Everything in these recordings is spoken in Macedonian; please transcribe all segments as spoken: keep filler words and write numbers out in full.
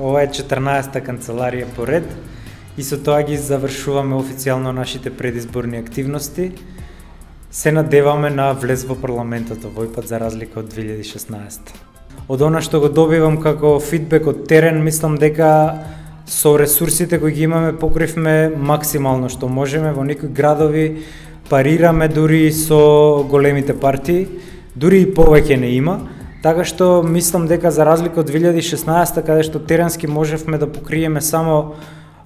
ова е четрнаесетта канцеларија по ред и со тоа ги завршуваме официјално нашите предизборни активности. Се надеваме на влез во парламентот овој пат за разлика од две илјади и шеснаесетта. Од она што го добивам како фидбек од терен, мислам дека со ресурсите кои ги имаме покривме максимално што можеме. Во некои градови парираме дури со големите партии, дури и повеќе не има. Така што мислам дека за разлика од две илјади и шеснаесетта, каде што теренски можевме да покриеме само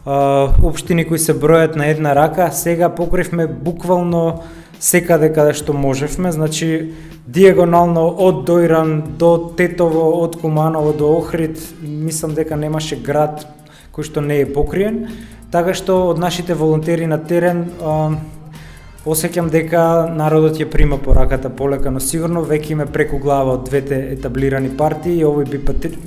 а, општини кои се бројат на една рака, сега покривме буквално секаде каде што можевме, значи диагонално од Дојран до Тетово, од Куманово до Охрид, мислам дека немаше град кој што не е покриен, така што од нашите волонтери на терен а, осеќам дека народот ја прима пораката полека, но сигурно веќе име преку глава од двете етаблирани партии и овој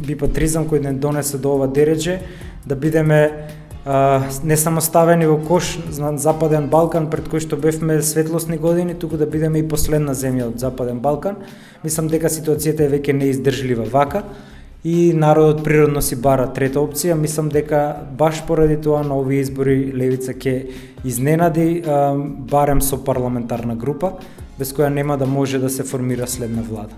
бипатризам кој не донесе до ова дередже, да бидеме а, не само ставени во кош на Западен Балкан, пред кој што бевме светлосни години, туку да бидеме и последна земја од Западен Балкан. Мислам дека ситуацијата е веќе неиздржлива вака и народот природно си бара трета опција. Мислам дека баш поради тоа на овие избори левица ќе изненади, а, барем со парламентарна група, без која нема да може да се формира следна влада.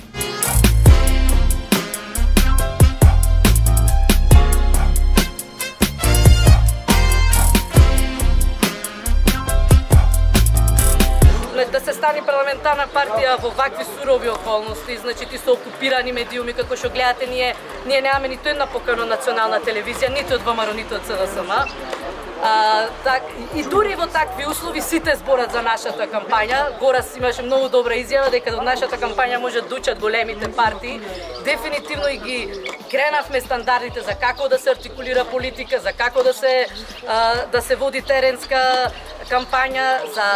Да се стане парламентарна партија во вакви сурови околности, значи ти со окупирани медиуми, како што гледате, ние ние немаме ниту една покана национална телевизија, ниту од ВМРО, ниту од СДСМ. А, так, и дури во такви услови сите зборат за нашата кампања. Горас имаше многу добра изјава дека од нашата кампања може да учат големите партии. Дефинитивно и ги кренавме стандардите за како да се артикулира политика, за како да се а, да се води теренска кампања, за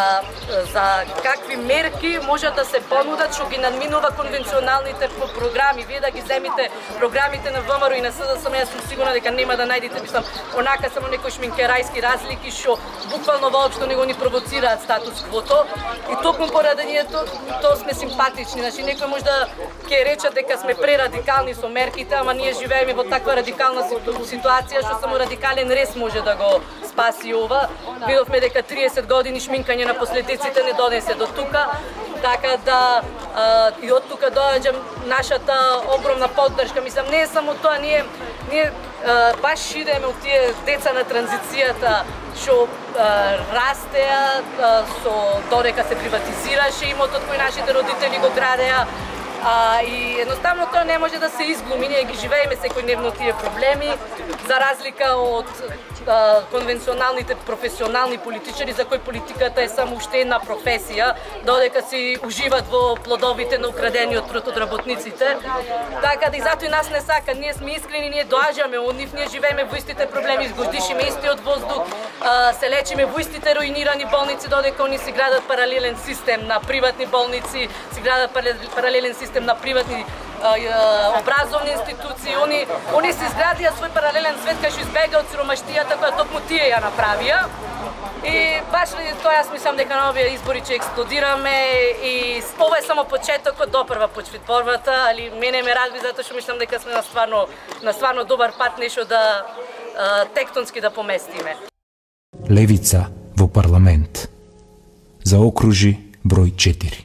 за какви мерки може да се понудат што ги надминува конвенционалните програми. Вие да ги земите програмите на ВМРО и на СДСМ, јас сум сигурна дека нема да најдете, мислам, онака само некои шминкерајски разлики што буквално воопшто не го ни провоцираат статус квото. И токму поради ние то, то сме симпатични. Значи некој може да ќе рече дека сме прерадикални со мерките, ама ние живееме во таква радикална ситуација што само радикален рез може да го спаси ова. Видовме дека триесет години шминкање на последиците не донесе до тука. Така да а, и од тука доаѓа нашата огромна поддршка. Мислам, не е само тоа, ние ние а, баш идеме од тие деца на транзицијата што растеа а, со додека се приватизираше имотот кој нашите родители го градеа. А, и едноставно тоа не може да се изглуми, ние ги живееме секојдневно тие проблеми, за разлика од а, конвенционалните професионални политичари за кои политиката е само уште една професија, додека си уживат во плодовите на украдениот труд од работниците. Така да и затоа и нас не сака, ние сме искрени, ние доаѓаме од нив, ние живееме во истите проблеми, дишиме истиот воздух, а, се лечиме во истите руинирани болници, додека они си градат паралелен систем на приватни болници, си градат паралелен систем на приватни а, а, образовни институции. Они, они се изградија свој паралелен свет кај што избега од сиромаштијата која токму тие ја направија. И баш ради тоа јас мислам дека на овие избори ќе експлодираме и ова е само почетокот, допрва почви борбата, али мене ме радви затоа што мислам дека сме на стварно на стварно добар пат нешто да а, тектонски да поместиме. Левица во парламент за окружи број четири.